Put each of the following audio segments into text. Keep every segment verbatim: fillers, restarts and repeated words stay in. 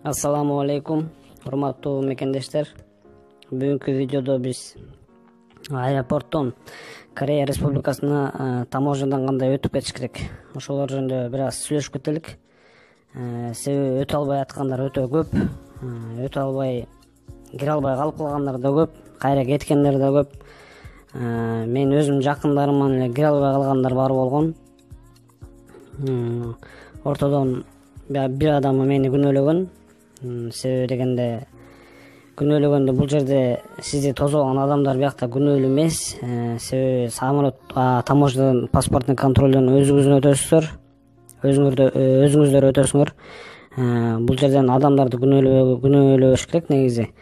Ассаламу алейкум, урматтуу мекендештер. Бүгүнкү видеодо биз аэропорттон Корея Республикасына таможнядан кандай өтүп кетиш керек, ошолор жөнүндө бир аз сүйлөшүп кетелик. Себеби өтө албай аткандар өтө көп, өтө албай кире албай калып калгандар да көп, кайра кеткендер да көп. Мен өзүм жакындарыман эле кире албай калгандар бар болгон. Ортодон бир адам мени күнөөлөгөн. Себеби дегенде күнөөлөгөндө бул жерде сизди тосуп адамдар биякта күнөөлүү эмес. Себеби самолет таможнядан паспортный контролдон өзүңүздөн өтөсүздөр, өзүңүздөр өтөсүңөр. Бул жерден адамдарды күнөөлөбөш керек негизи.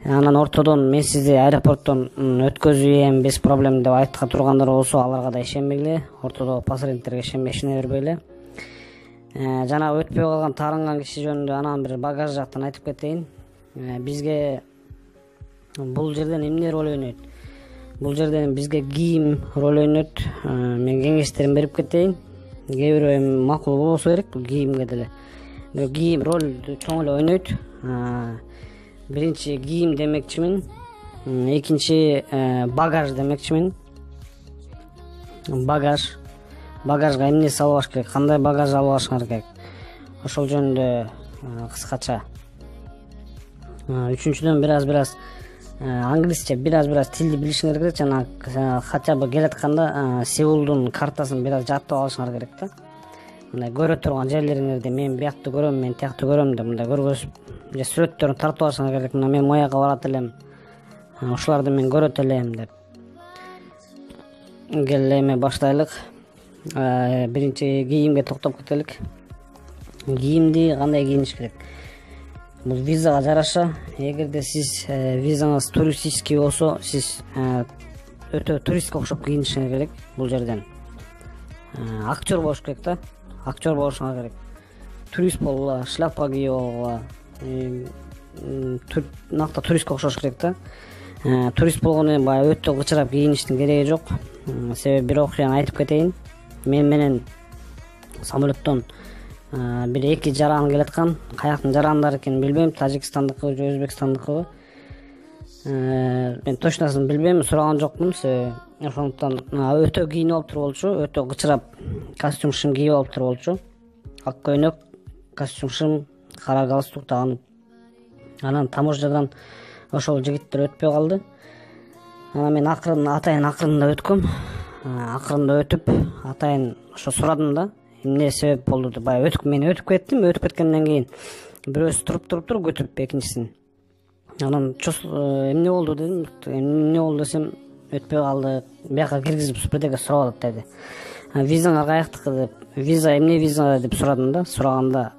Анан ортодон мен сизди аэропорттон өткөзөйм без проблем деп айта тургандар болсо, аларга да ишенбегиле. Ортодо посредниктерге ишене бербегиле. Жана өтпөй калган таарынган киши жөнүндө анан бир багаж жактан айтып кетейин. Бизге бул жерден эмне роль ойнойт? Бул жерден бизге кийим роль ойнойт. Мен кеңештерин берип кетейин. Кээ бирөө эми макул болбосо керек бул кийимге деле. Кийим роль чоң эле ойнойт. Биринчи кийим демекчимин, экинчи багаж демекчимин. Багаж Багажга эмне салбаш керек, кандай багаж алып алышыңар керек, ошол жөнүндө кыскача. Үчүнчүдөн бир аз бир аз англисче бир аз бир аз тилди билишиңер керек, жана хотя бы келатканда Сеулдун картасын бир аз жаттап алышыңар керек да. Мындай көрө турган жерлериңерди, мен биякты көрөм, мен тиякты көрөм деп мындай көргөзүп же сүрөттөрүн тартып алышыңар керек. Мына мен мояка барат элем, ушуларды мен көрөт элем деп. Келе эми баштайлык. Биринчи кийимге токтоп кетелик. Кийимди кандай кийиниш керек? Бул визага жараша. Эгерде сиз визаңыз туристический болсо, сиз өтө туристке окшоп кийинишиңер керек. Бул жерден актер болуш керек да, актер болушуңар керек. Турист болгула, шляпа кийип алгыла, накта туристке окшош керек да. Турист болгону баягы өтө кычырап кийиништин кереги жок. Себеби бир окуяны айтып кетейин. Мен менен самолеттон бир эки жаран келаткан. Каяктын жарандары экенин билбейм, Тажикстандыкы же Өзбекстандыкыбы. Мен точносын билбейм, сураган жокмун. Себеби ошондуктан өтө кийинип алыптыр болчу, өтө кычырап костюм шым кийип алыптыр болчу. Ак көйнөк, костюм шым, кара галстук тагынып. Анан таможнядан ошол жигиттер өтпөй калды. Анан мен акырын атайын акырында өткөм. Акырында өтүп, атайын ошо сурадым да, эмне себеп болду деп. Баягы өтүп мен өтүп кеттим, өтүп кеткенден кийин бирөөсү туруп туруптур көтүп экинчисин. Анан эмне болду дедим, эмне болду десем, өтпөй калды, бияка киргизип бирдеке сурап атат деди. Визаңар каяктыкы деп, виза эмне виза деп сурадым да, сураганда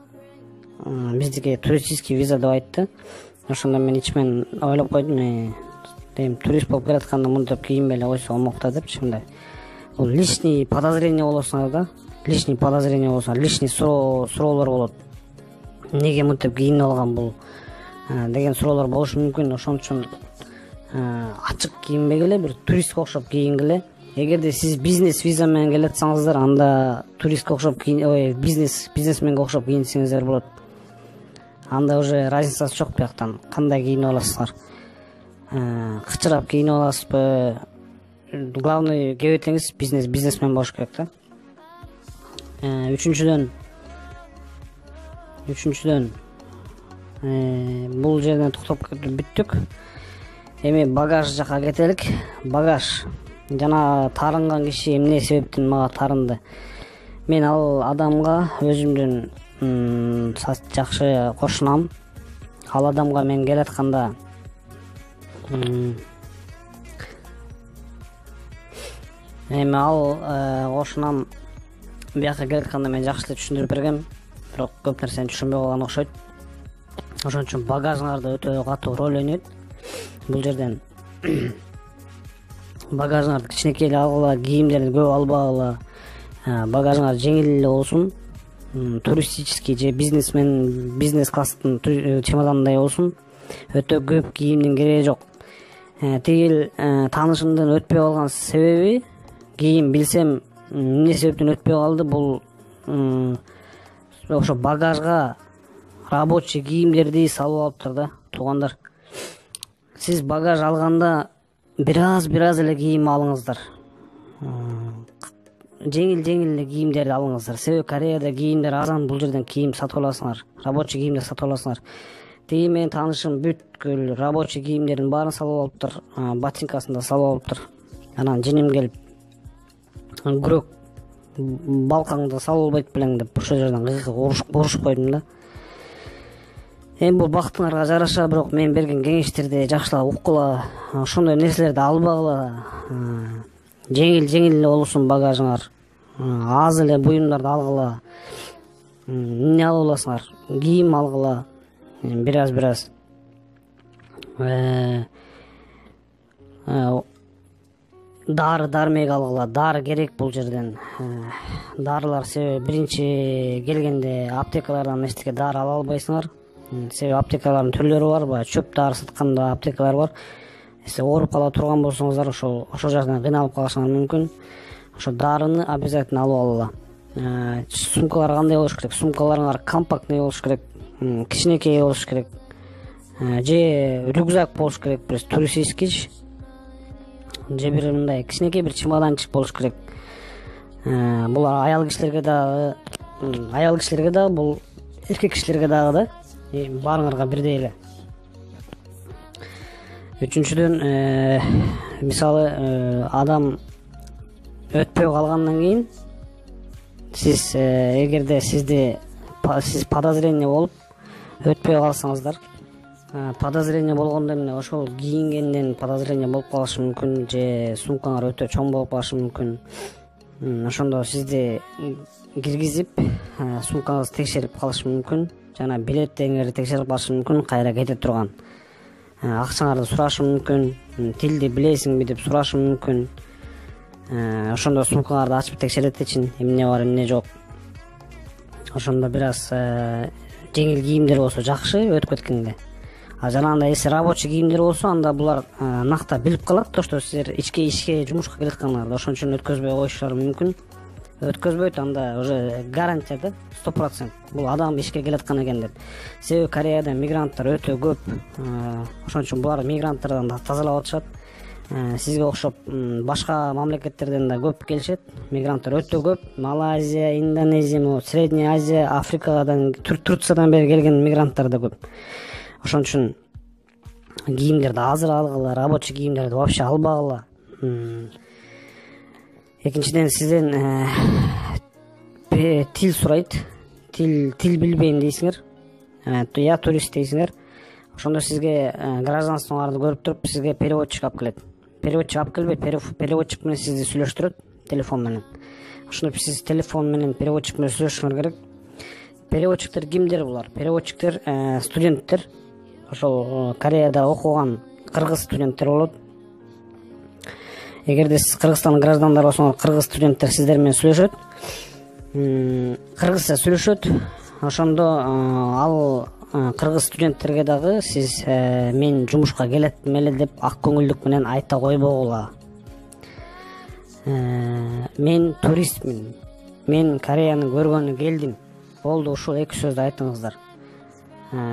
биздики туристический виза деп айтты. Ошондо мен ичимен ойлоп койдум, дейм, турист болуп келатканда мынтип кийинбей эле койсо болмок да депчи. Мындай бул лишний подозрение болосуңар да, лишний подозрение болсоңар, лишний суроолор болот. Эмнеге мынтип кийинип алган бул деген суроолор болушу мүмкүн. Ошон үчүн ачык кийинбегиле, бир туристке окшоп кийингиле. Эгерде сиз бизнес виза менен келатсаңыздар, анда туристке окшоп кийин, ой, бизнес бизнесменге окшоп кийинсеңиздер болот. Анда уже разницасы жок бияктан кандай кийинип аласыздар. Кычырап кийинип аласызбы? Главный кебетеңиз бизнес бизнесмен болуш керек да. Үчүнчүдөн Үчүнчүдөн бул жерден токтоп бүттүк. Эми багаж жака кетелик. Багаж жана таарынган киши эмне себептен мага таарынды? Мен ал адамга өзүмдүн жакшы кошунам. Ал адамга мен келатканда эми ал кошунам, бияка келатканда мен жакшы эле түшүндүрүп бергем, бирок көп нерсени түшүнбөй калган окшойт. Ошон үчүн багажыңарда өтө катуу роль ойнойт. Бул жерден багажыңарды кичинекей эле алгыла, кийимдерди көп албагыла. Багажыңар жеңил эле болсун. Туристический же бизнесмен бизнес класстын чемодандай болсун. Өтө көп кийимдин кереги жок. Тигил таанышымдын өтпөй калган себеби, кийин билсем эмне себептен өтпөй калды, бул ошо багажга рабочий кийимдерди салып алыптыр да. Туугандар, сиз багаж алганда бир аз бир аз эле кийим алыңыздар. Жеңил жеңил эле кийимдерди алыңыздар. Себеби Кореяда кийимдер арзан, бул жерден кийим сатып аласыңар, рабочий кийимдер сатып аласыңар. Тиги менин таанышым бүткүл рабочий кийимдердин баарын салып алыптыр, ботинкасын да салып алыптыр. Анан женим келип күрөк балкаңды салып албайт белең деп ошол жерден урушуп койдум да. Эми бул бактыңарга жараша, бирок мен берген кеңештерди жакшылап уккула, ошондой нерселерди албагыла. Жеңил жеңил эле болсун багажыңар, аз эле буюмдарды алгыла. Эмне алып аласыңар? Кийим алгыла, бир аз бир аз. Дары дармек алгыла, дары керек бул жерден. Дарылар себеби биринчи келгенде аптекалардан эчтеке дары ала албайсыңар. Себеби аптекалардын түрлөрү бар, баягы чөп дары саткан да аптекалар бар. Сиз ооруп кала турган болсоңуздар, ошол ошол жактан кыйналып калышыңар мүмкүн. Ошо дарыны обязательно алып алгыла. Сумкалар кандай болуш керек? Сумкаларыңар компактный болуш керек, кичинекей болуш керек. Же рюкзак болуш керек, бир туристический, же бир мындай кичинекей бир чемоданчик болуш керек. Булар аял кишилерге дагы, аял кишилерге дагы, бул эркек кишилерге дагы да. Баарыңарга бирдей эле. Үчүнчүдөн, мисалы адам өтпөй калгандан кийин сиз эгерде сизди сиз подозрение болуп өтпөй калсаңыздар, подозрение болгондо эмне ошол кийингенден подозрение болуп калышы мүмкүн, же сумкаңар өтө чоң болуп калышы мүмкүн. Ошондо сизди киргизип сумкаңызды текшерип калышы мүмкүн, жана билеттериңерди текшерип калышы мүмкүн, кайра кете турган. Акчаңарды сурашы мүмкүн, тилди билесиңби деп сурашы мүмкүн. Ошондо сумкаңарды ачып текшерет эчин, эмне бар, эмне жок. Ошондо бир аз жеңил кийимдер болсо жакшы өтүп кеткенге. А жанагындай эси рабочий кийимдер болсо, анда булар накта билип калат, то что силер ичке ишке жумушка келатканыңарды, ошон үчүн өткөзбөй коюшулары мүмкүн. Өткөзбөйт, анда уже гарантия да, сто процент бул адам ишке келаткан экен деп. Себеби Кореяда мигранттар өтө көп, ошон үчүн булар мигранттардан да тазалап атышат. Сизге окшоп башка мамлекеттерден да көп келишет, мигранттар өтө көп. Малайзия, Индонезия, Средняя Азия, Африкадан, Турциядан бери келген мигранттар да көп. Ошон үчүн кийимдерди азыр алгыла, рабочий кийимдерди вообще албагыла. Экинчиден, сизден тил сурайт. Тил тил билбейм дейсиңер. Я турист дейсиңер. Ошондо сизге гражданствоңарды көрүп туруп, сизге переводчик алып келет. Переводчик алып келбейт, переводчик менен сизди сүйлөштүрөт телефон менен. Ошондо сиз телефон менен переводчик менен сүйлөшүңөр керек. Переводчиктер кимдер булар? Переводчиктер студенттер. Ошол Кореяда окуган кыргыз студенттер болот. Эгерде сиз Кыргызстандын граждандары болсоңор, кыргыз студенттер сиздер менен сүйлөшөт. Кыргызча сүйлөшөт. Ошондо ал кыргыз студенттерге дагы сиз мен жумушка келеттим эле деп ак көңүлдүк менен айта койбогула. Мен туристмин. Мен Кореяны көргөнү келдим. Болду, ушул эки сөздү айтыңыздар.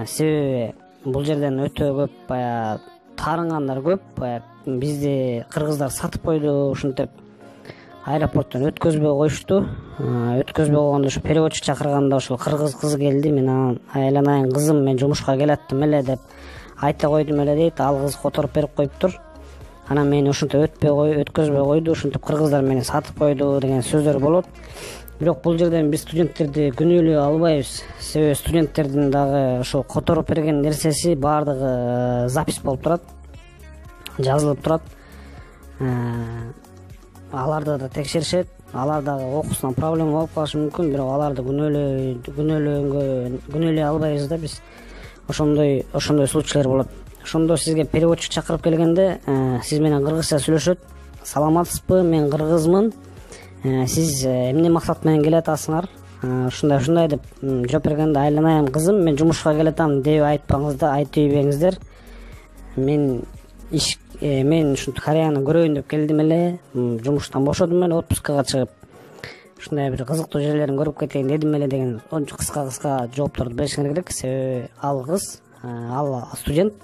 Себеби бул жерден өтө көп баягы таарынгандар көп, баягы бизди кыргыздар сатып койду, ушинтип аэропорттон өткөзбөй коюшту. Өткөзбөй койгондо ушу переводчик чакырганда ошол кыргыз кыз келди, мен анан айланайын кызым, мен жумушка келаттым эле деп айта койдум эле дейт. Ал кыз которуп берип коюптур. Анан мени ушинтип өтпөй кой, өткөзбөй койду, ушинтип кыргыздар мени сатып койду деген сөздөр болот. Бирок бул жерден биз студенттерди күнөөлөй албайбыз. Себеби студенттердин дагы ошол которуп берген нерсеси баардыгы запись болуп турат, жазылып турат. Аларды да текшеришет, алар дагы окуусунан проблема болуп калышы мүмкүн, бирок аларды күнөөлөй күнөөлөнгө күнөөлөй албайбыз да биз. Ошондой ошондой случайлар болот. Ошондо сизге переводчик чакырып келгенде, сиз менен кыргызча сүйлөшөт. Саламатсызбы, мен кыргызмын. Сиз эмне максат менен келатасыңар? Ушундай ушундай деп жооп бергенде, айланайын кызым, мен жумушка келатам деп айтпаңыздар, айтып ийбеңиздер. Мен иш мен ушинтип Кореяны көрөйүн деп келдим эле, жумуштан бошодум эле, отпускага чыгып. ушундай бир кызыктуу жерлерин көрүп кетейин дедим эле деген кыска кыска жоопторду беришиңер керек. Себеби ал кыз, ал студент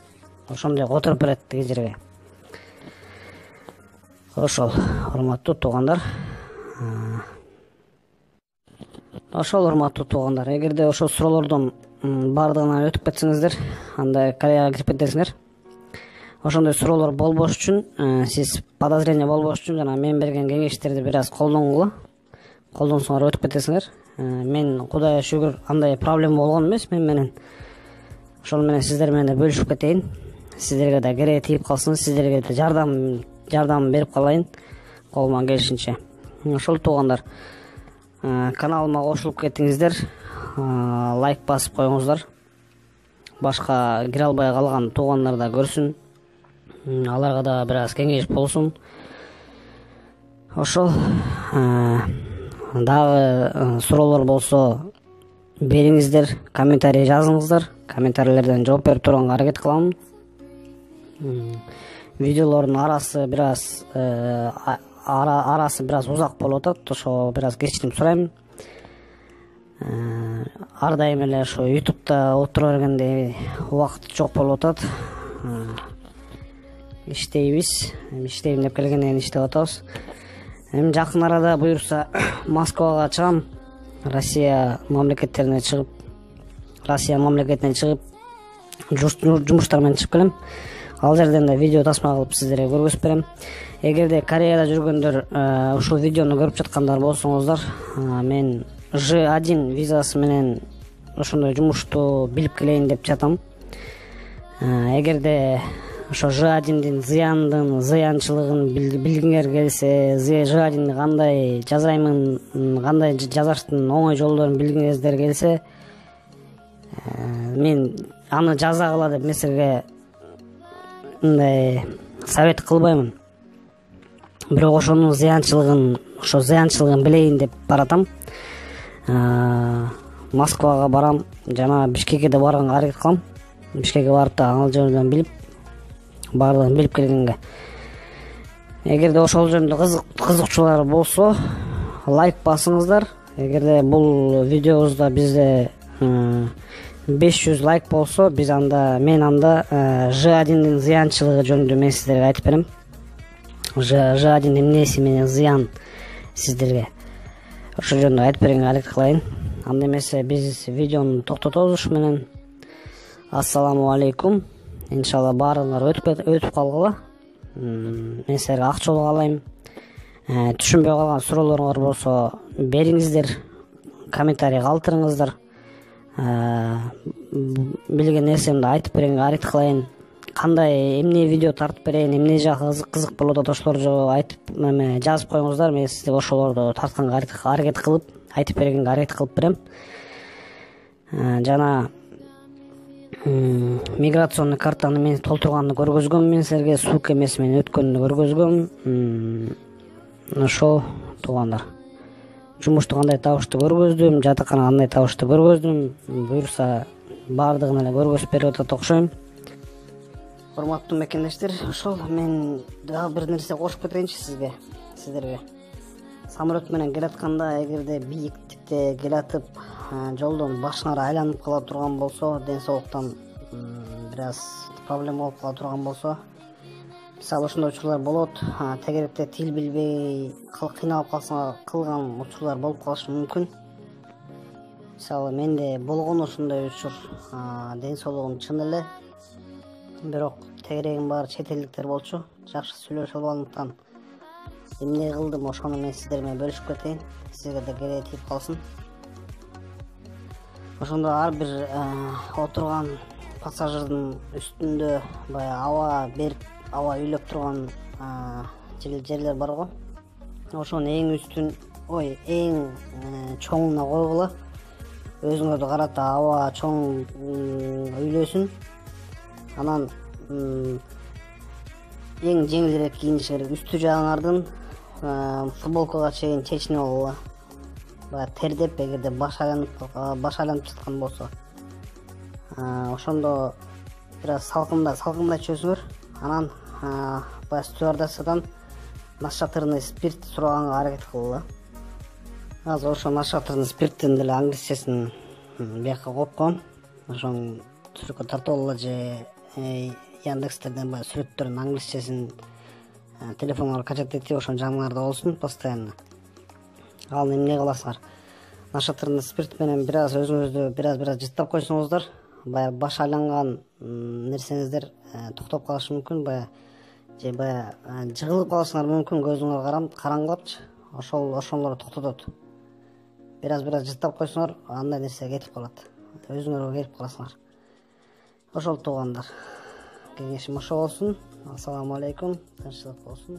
ошондой отуруп берет тиги жерге. Ошол, урматтуу туугандар. Ошол урматтуу туугандар, эгерде ошол суроолордун баардыгынан өтүп кетсеңиздер, анда Кореяга кирип кетесиңер. Ошондой суроолор болбош үчүн, сиз подозрение болбош үчүн жана мен берген кеңештерди бир аз колдонгула. Колдонсоңор өтүп кетесиңер. Мен Кудайга шүгүр андай проблема болгон эмес мен менен. Ошол менен сиздер менен да бөлүшүп кетейин. Сиздерге да кереги тийип калсын, сиздерге да жардам жардам берип калайын колуман келишинче. Ошол туугандар, каналыма кошулуп кетиңиздер, лайк басып коюңуздар. Башка кире албай калган туугандар да көрсүн. Аларга да бир аз кеңеш болсун. Ошол, дагы суроолор болсо бериңиздер, комментарий жазыңыздар. Комментарийлерден жооп берип турганга аракет кылам. Видеолордун арасы бир аз арасы бир аз узак болуп атат. Ошо бир аз кечирим сурайм. Ар дайым эле ошо ютубта отура бергенде убакыт жок болуп атат. Иштейбиз, иштейм деп келгенден кийин иштеп атабыз. Эми жакын арада буюрса Москвага чыгам. Россия мамлекеттерине чыгып, Россия мамлекетинен чыгып, жумуштар менен чыгып келем. Ал жерден да видео тасма кылып сиздерге көргөзүп берем. Эгерде Кореяда жүргөндөр ушул видеону көрүп жаткандар болсоңуздар, мен жэ один визасы менен ошондой жумушту билип келейин деп жатам. Эгерде ошо жэ одиндин зыяндын, зыянчылыгын билгиңер келсе, жэ одинди кандай жасаймын, кандай жасаштын оңой жолдорун билгиңиздер келсе, мен аны жазагыла деп меселге мындай совет кылбаймын. Бирок ошонун зыянчылыгын, ошо зыянчылыгын билейин деп баратам. Москвага барам жана Бишкекке да барганга аракет кылам. Бишкекке барып да ал жерден билип, баардыгын билип келгенге. Эгерде ошол жөнүндө кызыкчулар болсо, лайк басыңыздар. Эгерде бул видеобузда бизде беш жүз лайк болсо, биз анда мен анда жэ одиндин зыянчылыгы жөнүндө мен сиздерге айтып берем. жэ одиндин эмнеси менен зыян сиздерге. Ошол жөнүндө айтып бергенге аракет кылайын. Анда эмесе биз видеону токтотобуз ушу менен. Ассаламу алейкум. Иншалла баарыңар өтүп өтүп калгыла. Мен силерге ак жол каалайм. Түшүнбөй калган суроолоруңар болсо бериңиздер, комментарий калтырыңыздар. Билген нерсемди айтып бергенге аракет кылайын. Кандай эмне видео тартып берейин, эмне жагы кызык болуп атат, ошолорду айтып жазып коюңуздар. Мен сизге ошолорду тартканга аракет кылып, айтып бергенге аракет кылып берем. Жана миграционный картаны мен толтурганды көргөзгөм, мен силерге ссылка эмеси менен өткөнүн көргөзгөм. Ошол туугандар. Жумушту кандай табышты көргөздүм, жатакана кандай табышты көргөздүм. Буюрса баардыгын эле көргөзүп берип атат окшойм. Урматтуу мекендештер, ошол мен дагы бир нерсе кошуп кетейинчи сизге, сиздерге. Самолет менен келатканда, эгерде бийиктикте келатып, жолдон башыңар айланып кала турган болсо, ден соолуктан бир аз проблема болуп кала турган болсо, мисалы ошондой учурлар болот. Тегеректе тил билбей кыйналып калсаңар кылган учурлар болуп калышы мүмкүн. Мисалы менде болгон ошондой учур. Ден соолугум чын эле, бирок тегерегим баары чет элдиктер болчу. Жакшы сүйлөшө албагандыктан эмне кылдым, ошону мен сиздер менен бөлүшүп кетейин. Сизге да кереги тийип калсын. Ошондо ар бир отурган пассажирдин үстүндө баягы аба берип, аба үйлөп турган жерлер бар го. Ошонун эң үстүн, ой, эң чоңуна койгула. Өзүңөрдү карата аба чоң үйлөсүн. Анан эң жеңилирээк кийиниш керек. Үстү жагыңардын футболкага чейин чечинип алгыла. Баягы тердеп, эгерде баш айланып баш айланып жаткан болсо, ошондо бир аз салкында салкындатып жиберсиңер. Анан баягы стюардессадан насчетырный спирт сураганга аракет кылгыла. азыр ошо нашатырдын спирттин деле англисчесин бияка коюп койгом. Ошону сүрөткө тартып алгыла же Яндекстерден баягы сүрөттөрдүн англисчесин телефоңорго качать этип ошону жаныңарда болсун постоянно. Ал эмне кыласыңар? Нашатырдын спирт менен бир аз өзүңүздү бир аз бир аз жыттап койсоңуздар, баягы баш айланган нерсеңиздер токтоп калышы мүмкүн, баягы же баягы жыгылып калышыңар мүмкүн, көзүңөр караңгылапчы. Ошол ошолор токтотот. Бир аз бир аз жыттап койсоңор, андай нерсе кетип калат. Өзүңөргө келип каласыңар. Ошол туугандар. Кеңешим ошо болсун. Ассаламу алейкум. Тынччылык болсун.